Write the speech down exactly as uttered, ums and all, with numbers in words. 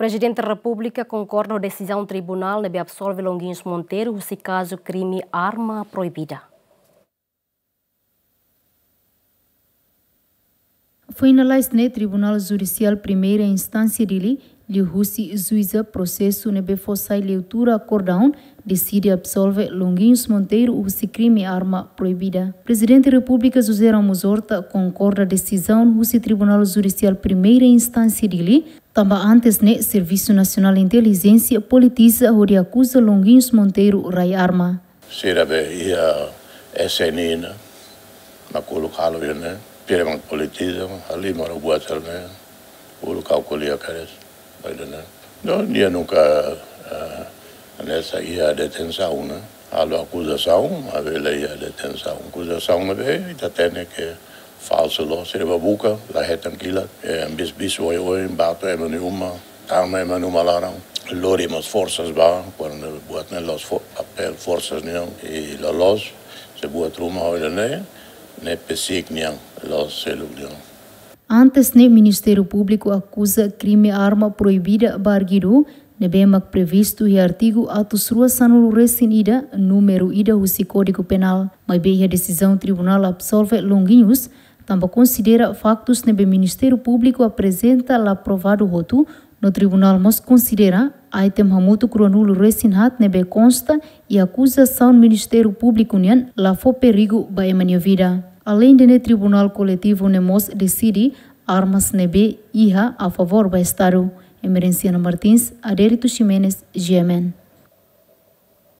Prezidente Repúblika konkorda ho desizaun tribunál ne'ebé absolve Longuinhos Monteiro husi kazu krime arma proibida. Finaliza ne'e Tribunál Judisiál Primeira Instánsia Dili, liuhusi juíza prosesu ne'ebé fó sai leitura akordaun, deside absolve Longuinhos Monteiro husi krime arma proibida. Prezidente Repúblika José Ramos Horta konkorda desizaun husi Tribunál Judisiál Primeira Instánsia Dili, tanba antes ne'e Servisu Nasionál Intelijénsia politiza hodi akuza Longuinhos Monteiro rai arma. Sira be iha S N I ne'e, mak uluk halo iha ne'e, pire mak politiza, halimar buat halo ne'e, uluk ha'u ko'alia kedas, ba ida-ne'e. No, nia nunka, eh, hanesan iha detensaun ne'e, halo akuzasaun, maibé la iha detensaun. Akuzasaun ne'ebé, ita hatene ke falsu loos, sira bá buka, la hetan kilat, eh, bis-bis oioin, bá to'o ema nia uma, tama ema nia uma laran, lori mós forsas bá, kuandu buat ne'e la'ós fo-, papél forsas nian, i loloos, se buat ruma ohin ne'e, ne'e PCIC nian, la'ós seluk nian. Antes ne'e Ministériu Públiku akuza krime arma proibida ba arguidu, ne'ebé mak previstu iha artigu atus rua sanulu resin ida, númeru ida husi Kódigu Penál. Maibé iha desizaun tribunál absolve Longuinhos, tanba konsidera faktus ne'ebé Ministériu Públiku aprezenta la provadu hotu, no tribunál mós konsidera item hamutuk ruanulu resin haat ne'ebé konsta iha akuzasaun Ministériu Públiku nian la fó perigu ba ema nia vida. Aleinde ne'e, Tribunál Koletivu ne'e mós deside armas ne'ebé iha a favór ba Estadu. Emerenciana Martins, Adérito Ximenes, G M N.